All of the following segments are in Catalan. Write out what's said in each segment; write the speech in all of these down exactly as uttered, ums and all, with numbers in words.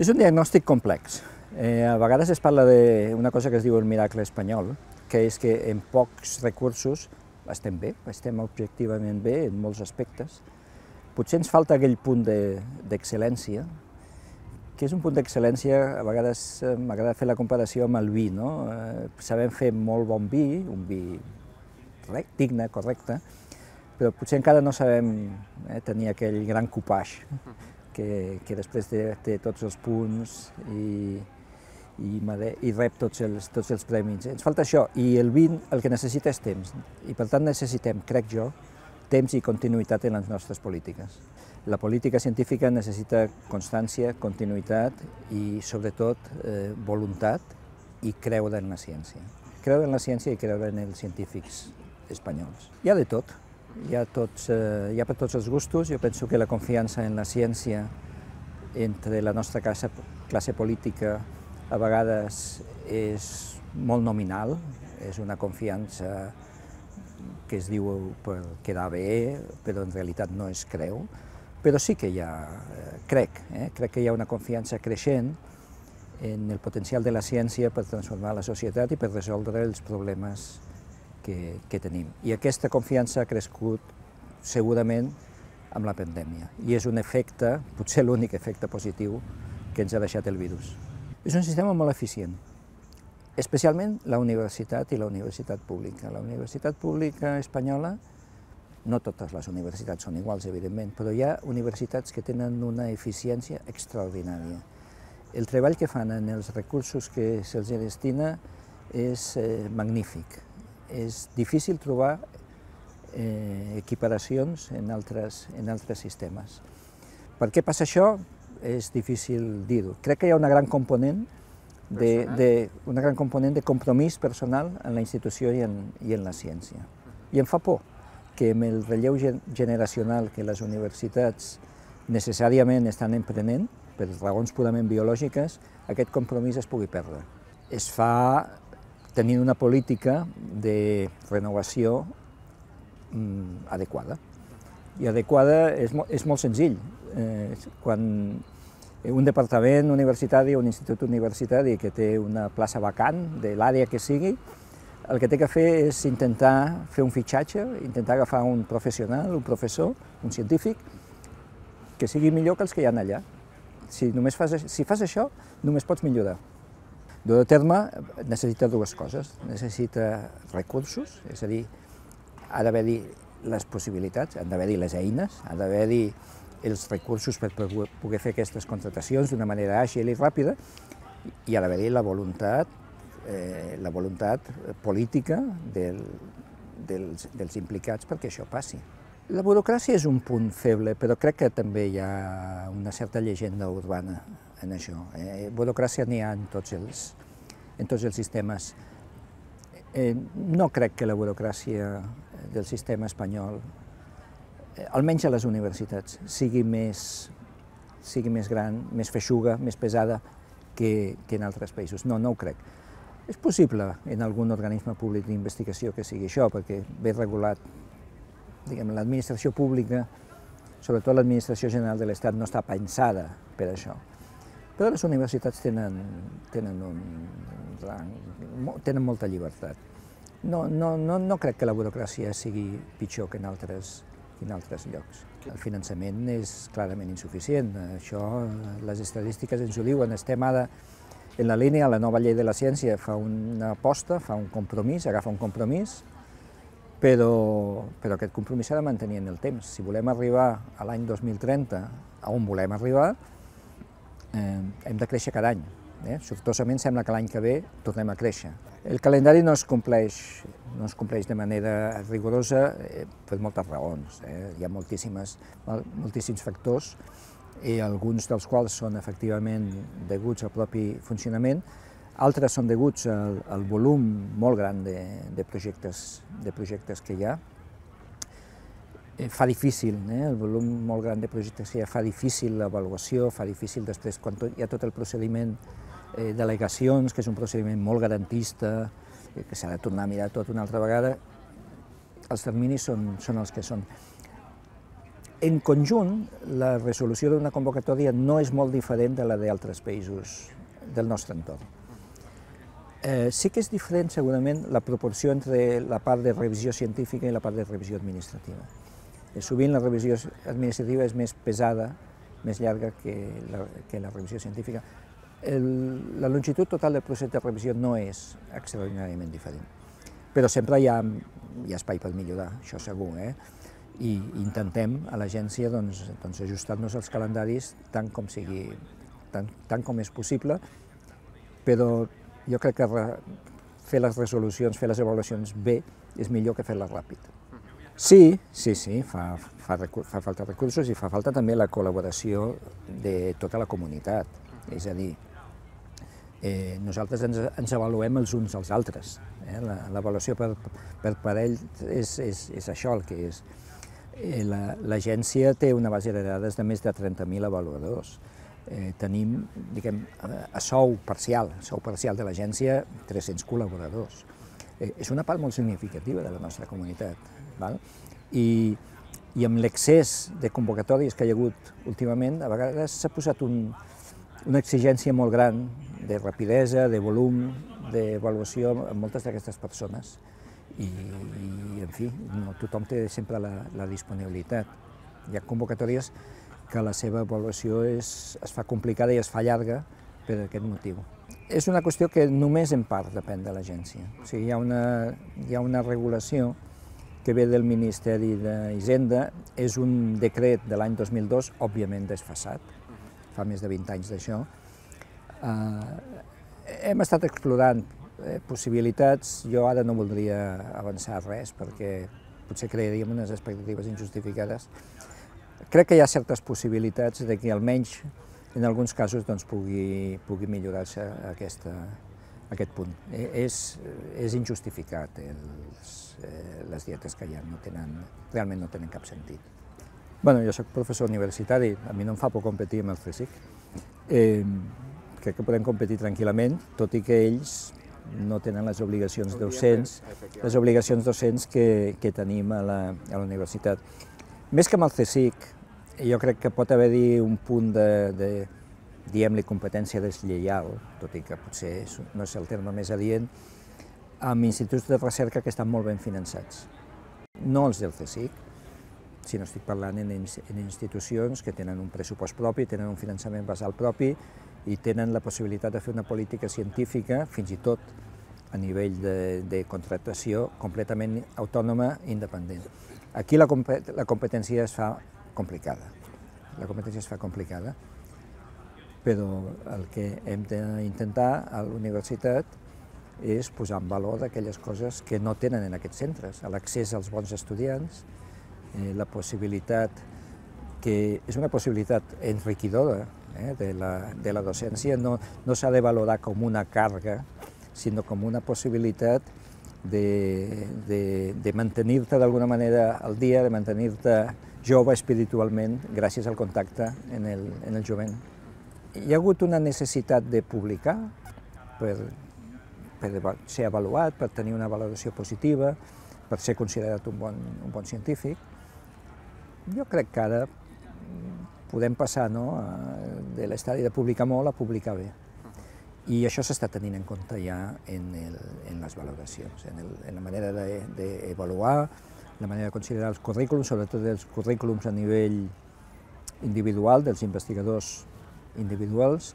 És un diagnòstic complex. Eh, a vegades es parla d'una cosa que es diu el miracle espanyol, que és que en pocs recursos estem bé, estem objectivament bé en molts aspectes. Potser ens falta aquell punt d'excel·lència, que és un punt d'excel·lència, a vegades m'agrada fer la comparació amb el vi, no? Eh, sabem fer molt bon vi, un vi digne, correcte, però potser encara no sabem eh, tenir aquell gran cupatge que, que després té, té tots els punts i, i, i rep tots els, tots els premis. Ens falta això, i el vi el que necessita és temps, i per tant necessitem, crec jo, temps i continuïtat en les nostres polítiques. La política científica necessita constància, continuïtat i, sobretot, eh, voluntat i creure en la ciència. Creure en la ciència i creure en els científics espanyols. Hi ha de tot. Hi ha, tots, eh, hi ha per tots els gustos. Jo penso que la confiança en la ciència entre la nostra classe, classe política a vegades és molt nominal, és una confiança que es diu per quedar bé, però en realitat no es creu. Però sí que hi ha, eh, crec, eh, crec que hi ha una confiança creixent en el potencial de la ciència per transformar la societat i per resoldre els problemes que, que tenim. I aquesta confiança ha crescut segurament amb la pandèmia. I és un efecte, potser l'únic efecte positiu que ens ha deixat el virus. És un sistema molt eficient, especialment la universitat i la universitat pública. La universitat pública espanyola, no totes les universitats són iguals, evidentment, però hi ha universitats que tenen una eficiència extraordinària. El treball que fan en els recursos que se'ls destina és eh, magnífic. És difícil trobar eh, equiparacions en altres, en altres sistemes. Per què passa això? És difícil dir-ho. Crec que hi ha una gran component de, de, una gran component de compromís personal en la institució i en, i en la ciència. I em fa por que amb el relleu generacional que les universitats necessàriament estan emprenent, per raons purament biològiques, aquest compromís es pugui perdre. Es fa tenint una política de renovació mm, adequada. I adequada és, és molt senzill. Eh, quan un departament universitari o un institut universitari que té una plaça vacant de l'àrea que sigui, el que té que fer és intentar fer un fitxatge, intentar agafar un professional, un professor, un científic, que sigui millor que els que hi ha allà. Si, només fas, si fas això, només pots millorar. Dur a terme necessita dues coses. Necessita recursos, és a dir, ha d'haver-hi les possibilitats, han d'haver-hi les eines, ha d'haver-hi els recursos per poder fer aquestes contratacions d'una manera àgil i ràpida, i ha d'haver-hi la voluntat, eh, la voluntat política del, dels, dels implicats perquè això passi. La burocràcia és un punt feble, però crec que també hi ha una certa llegenda urbana en això. Eh, burocràcia n'hi ha en tots els, en tots els sistemes. Eh, no crec que la burocràcia del sistema espanyol, eh, almenys a les universitats, sigui més, sigui més gran, més feixuga, més pesada que, que en altres països. No, no ho crec. És possible en algun organisme públic d'investigació que sigui això, perquè ve regulat, diguem, l'administració pública, sobretot l'administració general de l'Estat, no està pensada per això. Però les universitats tenen, tenen, un, tenen molta llibertat. No, no, no, no crec que la burocràcia sigui pitjor que en altres, que en altres llocs. El finançament és clarament insuficient. Això, les estadístiques ens ho diuen. Estem ara en la línia, la nova llei de la ciència fa una aposta, fa un compromís, agafa un compromís, però, però aquest compromís s'ha de mantenir en el temps. Si volem arribar a l'any dos mil trenta, a on volem arribar, eh, hem de créixer cada any. Eh? Sortosament sembla que l'any que ve tornem a créixer. El calendari no es compleix, no es compleix de manera rigorosa eh, per moltes raons. Eh? Hi ha moltíssimes, moltíssims factors, i alguns dels quals són efectivament deguts al propi funcionament, altres són deguts al, al volum molt gran de, de, projectes, de projectes que hi ha. Eh, fa difícil, eh? el volum molt gran de projectes que hi ha fa difícil l'avaluació, fa difícil després quan tot, hi ha tot el procediment eh, delegacions, que és un procediment molt garantista, eh, que s'ha de tornar a mirar tot una altra vegada, els terminis són, són els que són. En conjunt, la resolució d'una convocatòria no és molt diferent de la d'altres països del nostre entorn. Eh, sí que és diferent, segurament, la proporció entre la part de revisió científica i la part de revisió administrativa. Eh, sovint la revisió administrativa és més pesada, més llarga que la, que la revisió científica. El, la longitud total del procés de revisió no és extraordinàriament diferent, però sempre hi ha, hi ha espai per millorar, això segur, eh? I intentem a l'agència doncs, doncs, ajustar-nos als calendaris tant com sigui, tant, tant com és possible, però jo crec que fer les resolucions, fer les avaluacions bé és millor que fer-les ràpid. Sí, sí, sí, fa, fa, fa falta recursos i fa falta també la col·laboració de tota la comunitat. És a dir, eh, nosaltres ens, ens avaluem els uns als altres. Eh? L'avaluació per, per parell és, és, és això el que és. Eh, L'agència té una base de dades de més de trenta mil avaluadors. Eh, tenim, diguem, a sou parcial, sou parcial de l'agència, tres-cents col·laboradors. Eh, és una part molt significativa de la nostra comunitat. Val? I, i amb l'excés de convocatòries que hi ha hagut últimament, a vegades s'ha posat un, una exigència molt gran de rapidesa, de volum, d'avaluació a moltes d'aquestes persones. I, i en fi, no tothom té sempre la, la disponibilitat. Hi ha convocatòries que la seva avaluació és, es fa complicada i es fa llarga per aquest motiu. És una qüestió que només en part depèn de l'agència. O sigui, hi ha una, hi ha una regulació que ve del Ministeri d'Hisenda, és un decret de l'any dos mil dos, òbviament desfasat, fa més de vint anys d'això. Uh, hem estat explorant eh, possibilitats, jo ara no voldria avançar res perquè potser crearíem unes expectatives injustificades. Crec que hi ha certes possibilitats de que almenys en alguns casos doncs, pugui, pugui millorar-se aquesta, aquest punt. És, és injustificat, els, eh, les dietes que hi ha no tenen, realment no tenen cap sentit. Bueno, jo soc professor universitari, a mi no em fa por competir amb el CSIC. Eh, crec que podem competir tranquil·lament, tot i que ells no tenen les obligacions docents, les obligacions docents que, que tenim a la, a la universitat. Més que amb el CSIC, jo crec que pot haver-hi un punt de, de diguem-li, competència deslleial, tot i que potser no és el terme més adient, amb instituts de recerca que estan molt ben finançats. No els del CSIC, sinó estic parlant en, en institucions que tenen un pressupost propi, tenen un finançament basal propi i tenen la possibilitat de fer una política científica, fins i tot a nivell de, de contractació, completament autònoma i independent. Aquí la, la competència es fa complicada, la competència es fa complicada, però el que hem d'intentar a la universitat és posar en valor aquelles coses que no tenen en aquests centres, l'accés als bons estudiants, eh, la possibilitat, que és una possibilitat enriquidora eh, de, la, de la docència, no, no s'ha de valorar com una càrrega, sinó com una possibilitat de, de, de mantenir-te d'alguna manera al dia, de mantenir-te jove espiritualment gràcies al contacte en el, en el jovent. Hi ha hagut una necessitat de publicar per, per ser avaluat, per tenir una valoració positiva, per ser considerat un bon, un bon científic. Jo crec que ara podem passar no, de l'estadi de publicar molt a publicar bé. I això s'està tenint en compte ja en, el, en les valoracions, en, el, en la manera d'avaluar, la manera de considerar els currículums, sobretot els currículums a nivell individual, dels investigadors individuals.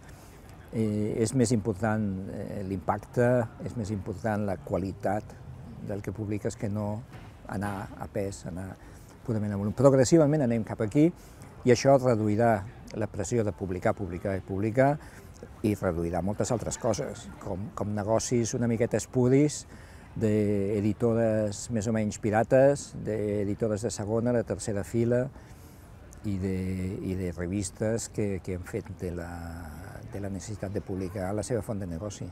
Eh, és més important eh, l'impacte, és més important la qualitat del que publiques que no anar a pes, anar purament a volum. Progressivament anem cap aquí i això reduirà la pressió de publicar, publicar i publicar i reduirà moltes altres coses, com, com negocis una miqueta espuris d'editores més o menys pirates, d'editores de segona, de tercera fila i de, i de revistes que, que han fet de la, de la necessitat de publicar la seva font de negoci.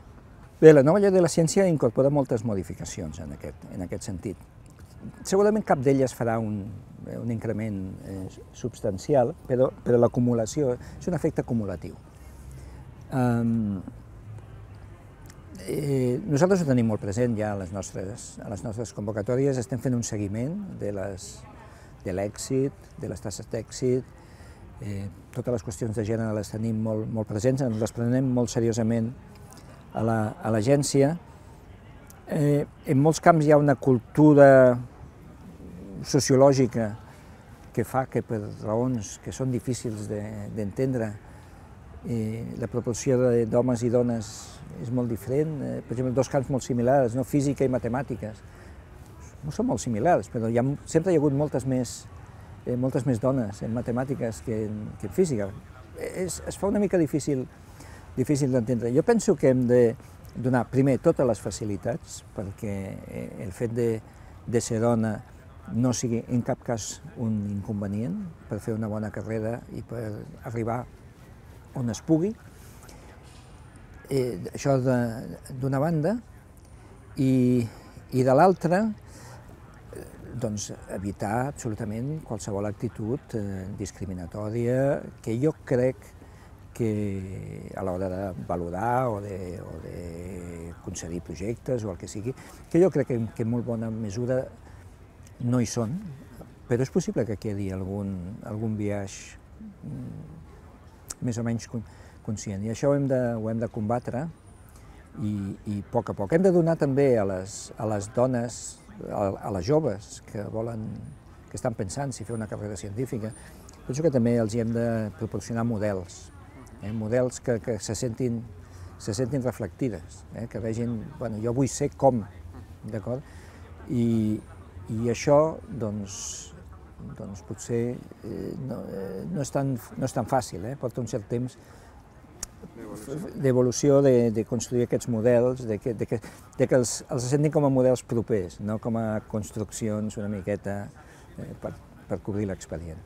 Bé, la nova llei de la ciència incorpora moltes modificacions en aquest, en aquest sentit. Segurament cap d'elles farà un, un increment eh, substancial, però, però l'acumulació és un efecte acumulatiu. Um, eh, nosaltres ho tenim molt present ja a les nostres, a les nostres convocatòries, estem fent un seguiment de les, de l'èxit, de les tasses d'èxit. Eh, totes les qüestions de gènere les tenim molt, molt presents, ens les prenem molt seriosament a l'agència. Eh, en molts camps hi ha una cultura sociològica que fa que per raons que són difícils d'entendre eh, la proporció d'homes i dones és molt diferent. Eh, per exemple, dos camps molt similars, no? Física i matemàtiques. No són molt similars, però hi ha, sempre hi ha hagut moltes més, eh, moltes més dones en matemàtiques que en, que en física. Es, es fa una mica difícil, difícil d'entendre. Jo penso que hem de donar, primer, totes les facilitats perquè el fet de, de ser dona no sigui en cap cas un inconvenient per fer una bona carrera i per arribar on es pugui. Eh, això d'una banda, i, i de l'altra, doncs, evitar absolutament qualsevol actitud eh, discriminatòria que jo crec que a l'hora de valorar o de, o de concedir projectes o el que sigui, que jo crec que, que en molt bona mesura no hi són, però és possible que quedi algun, algun biaix més o menys conscient. I això ho hem de, ho hem de combatre i, i a poc a poc. Hem de donar també a les, a les dones, a, a les joves que volen, que estan pensant si fer una carrera científica, penso que també els hi hem de proporcionar models, eh, models que, que se sentin, se sentin reflectides, eh, que vegin, bueno, jo vull ser com, d'acord? I, I això, doncs, doncs potser eh, no, eh, no, és tan, no és tan fàcil, eh? Porta un cert temps d'evolució, de, de construir aquests models, de que, de que, de que els, els sentin com a models propers, no com a construccions una miqueta eh, per, per cobrir l'expedient.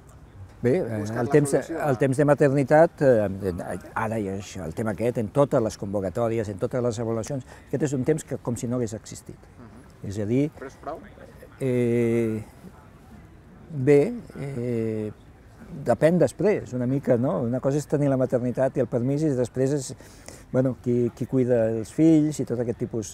Bé, eh, el, temps, el temps de maternitat, eh, ara i això, el tema aquest, en totes les convocatòries, en totes les avaluacions, aquest és un temps que com si no hagués existit. Uh-huh. És a dir, però és prou? Eh, bé, eh, depèn després, una mica, no? Una cosa és tenir la maternitat i el permís i després és, bueno, qui, qui cuida els fills i tot aquest tipus,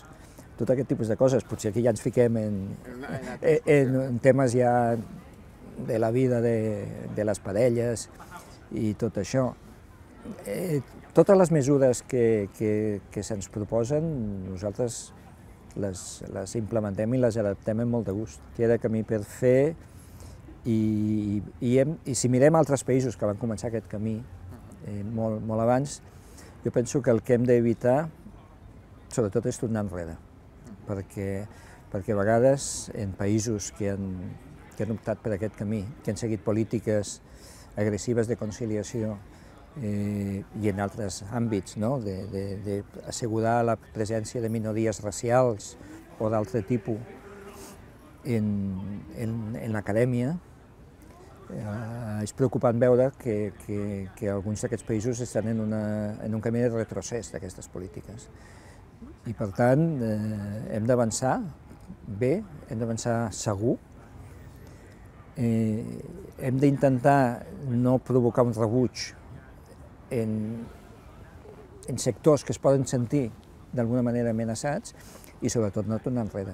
tot aquest tipus de coses. Potser aquí ja ens fiquem en, en, en, en temes ja de la vida de, de les parelles i tot això. Eh, totes les mesures que, que, que se'ns proposen, nosaltres Les, les implementem i les adaptem amb molt de gust. Queda camí per fer i, i, hem, i si mirem altres països que van començar aquest camí eh, molt, molt abans, jo penso que el que hem d'evitar, sobretot, és tornar enrere, perquè, perquè a vegades en països que han, que han optat per aquest camí, que han seguit polítiques agressives de conciliació, Eh, i en altres àmbits, no? d'assegurar la presència de minories racials o d'altre tipus en, en, en l'acadèmia, eh, és preocupant veure que, que, que alguns d'aquests països estan en, una, en un camí de retrocés d'aquestes polítiques. I per tant, eh, hem d'avançar bé, hem d'avançar segur, eh, hem d'intentar no provocar un rebuig En, en sectors que es poden sentir d'alguna manera amenaçats i sobretot no tornar enrere.